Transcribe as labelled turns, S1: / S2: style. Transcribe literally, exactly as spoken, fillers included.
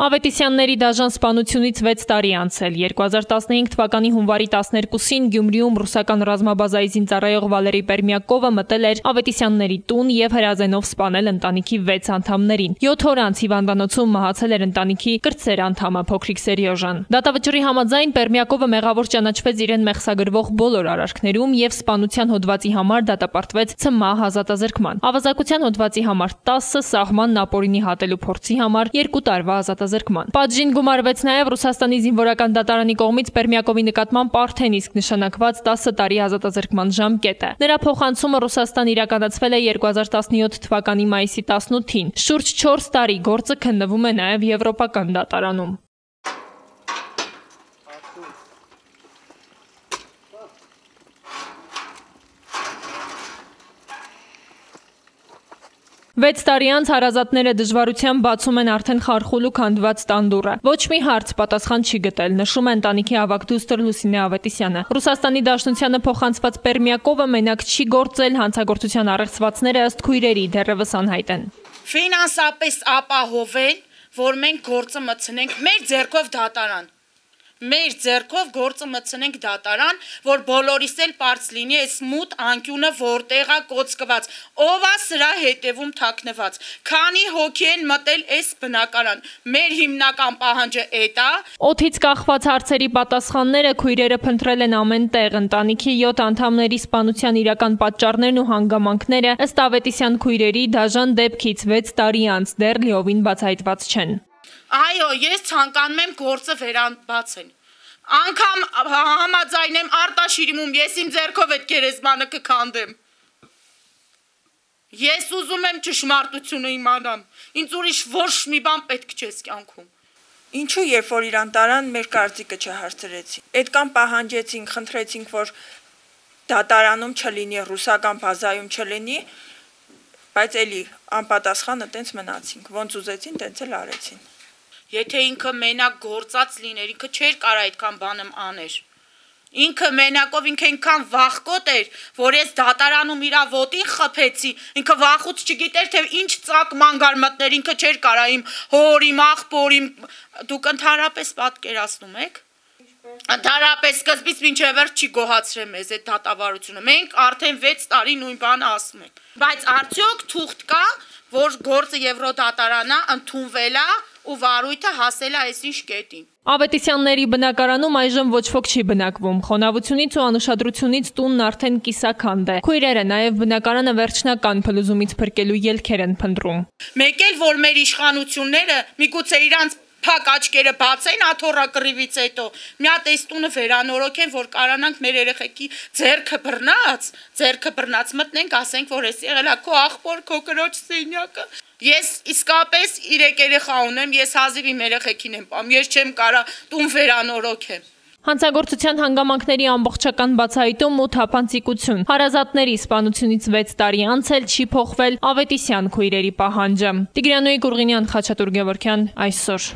S1: Ավետիսյանների դաժան սպանությունից վեց տարի անցել։ երկու հազար տասնհինգ թվականի հունվարի տասներկուսին Գյումրիում ռուսական ռազմաբազայի զինծառայող Վալերի Պերմյակովը մտել էր Ավետիսյանների տուն և հրազենով սպանել ընտանիքի վեց անդամներին։ յոթ օր անց հիվանդանոցում մահացել էր ընտանիքի կրտսեր անդամը փոքրիկ Սերյոժան։ Դատավճռի համաձայն Պերմյակովը մեղավոր ճանաչվեց իրեն մեղսագրվող բոլոր արարքներում և սպանության հոդվածի համար դատապարտվեց ցմահ ազատազրկման։ Ավազակության հոդվածի համար տասը, սահմանն ապօրինի հատելու փորձի համար երկու տարվա ազատազրկման։ Պատժին գումարվեց նաև Ռուսաստանի զինվորական դատարանի կողմից Պերմյակովի նկատմամբ արդեն իսկ նշանակված տասը տարի ազատազրկման ժամկետը։ Նրա փոխանցումը Ռուսաստան իրականացվել է երկու հազար տասնյոթ թվականի մայիսի տասնութին։ Շուրջ չորս տարի գործը քննվում է նաև Եվրոպական դատարանում։ Վեց տարի անց հարազատները դժվարությամբ բացում են արդեն խարխուլ ու քանդված տան դուռը։ Ոչ մի հարց պատասխան չի գտել, նշում է ընտանիքի ավագ դուստր Լուսինե Ավետիսյանը։ Ռուսաստանի Դաշնությանը փոխանցված Պերմյակովը մենակ չի գործել, հանցագործության առեղծվածները ըստ քույրերի դեռևս անհայտ են։
S2: Ֆինանսապես ապահովել, որ մենք գործը մտցնենք մեր ձեռքով դատարան։ Մեր ձեռքով գործը մտցնենք դատարան, որ բոլորիս էլ պարզ լինի այս մութ անկյունը որտեղ է կոծկված, ով է սրա հետևում թաքնված, քանի հոգի են մտել այս բնակարան, մեր հիմնական պահանջը էդ է։
S1: Օդից կախված հարցերի պատասխանները քույրերը փնտրել են ամեն տեղ, ընտանիքի յոթ անդամների սպանության իրական պատճառներն ու հանգամանքները ըստ Ավետիսյան քույրերի դաժան դեպքից վեց տարի անց դեռ լիովին բացահայտված չեն։
S2: Այո, ես ցանկանում եմ գործը վերաբացել։ Անգամ համաձայն եմ Արտաշիրիմում ես իմ ձեռքով այդ գերեզմանը կքանդեմ։ Ես ուզում եմ ճշմարտությունը իմանամ։ Ինձ ուրիշ ոչ մի բան պետք չէ կյանքում։
S3: Ինչու երբ որ իրան տարան մեր կարծիքը չհարցրեցին։ Այդքան պահանջեցինք, խնդրեցինք, որ դատարանում չլինի, ռուսական բազայում չլինի, բայց էլի անպատասխանը տենց մնացինք, ոնց ուզեցին, տենց էլ արեցին։
S2: Եթե ինքը մենակ գործած լիներ, ինքը չէր կարա այդքան բանում աներ։ Ինքը մենակով ինքը այնքան վախկոտ էր, որ ես դատարանում իրա ոտին խփեցի, ինքը վախուց չգիտեր, թե ինչ ծակ մանգար մտներ, ինքը չէր կարա իմ հոր, իմ աղբոր, իմ դուք ընդհանրապես պատկերացնում եք։ Ընդհանրապես սկզբից մինչև վերջ չի գոհացրել մեզ այդ դատավարությունը։ Մենք արդեն վեց տարի նույն բանը ասում ենք։ Բայց արդյոք թուղթ կա, որ գործը Եվրոդատարանա ընդունվել է ու վարույթը հասել է այսինչ կետին։
S1: Ավետիսյանների բնակարանում այժմ ոչ ոք չի բնակվում։ Խոնավությունից ու անուշադրությունից տունն արդեն կիսաքանդ է։ Քույրերը նաև բնակարանը վերջնական փլուզումից փրկելու ելքեր են փնտրում։
S2: Մեկ էլ որ մեր իշխանությունները միգուցե իրանց փակ աչքերը բացեն աթոռակռիվից հետո, մի հատ այս տունը վերանորոգեն, որ կարանանք մեր երեխեքի ձեռքը բռնած, ձեռքը բռնած մտնենք, ասենք, որ էս եղել է քո աղբոր, քո կրոջ սենյակը։ Ես իսկապես իրեք երեխա ունեմ, ես հազիվ իմ երեխեքին եմ պահում, ես չեմ կարա տուն վերանորոգեմ։
S1: Հանցագործության հանգամանքների ամբողջական բացահայտում ու թափանցիկություն։ Հարազատների սպանությունից վեց տարի անց էլ չի փոխվել Ավետիսյան քույրերի պահանջը։ Տիգրանոյի Գուրգինյան, Խաչատուր Գևորգյան, այսօր։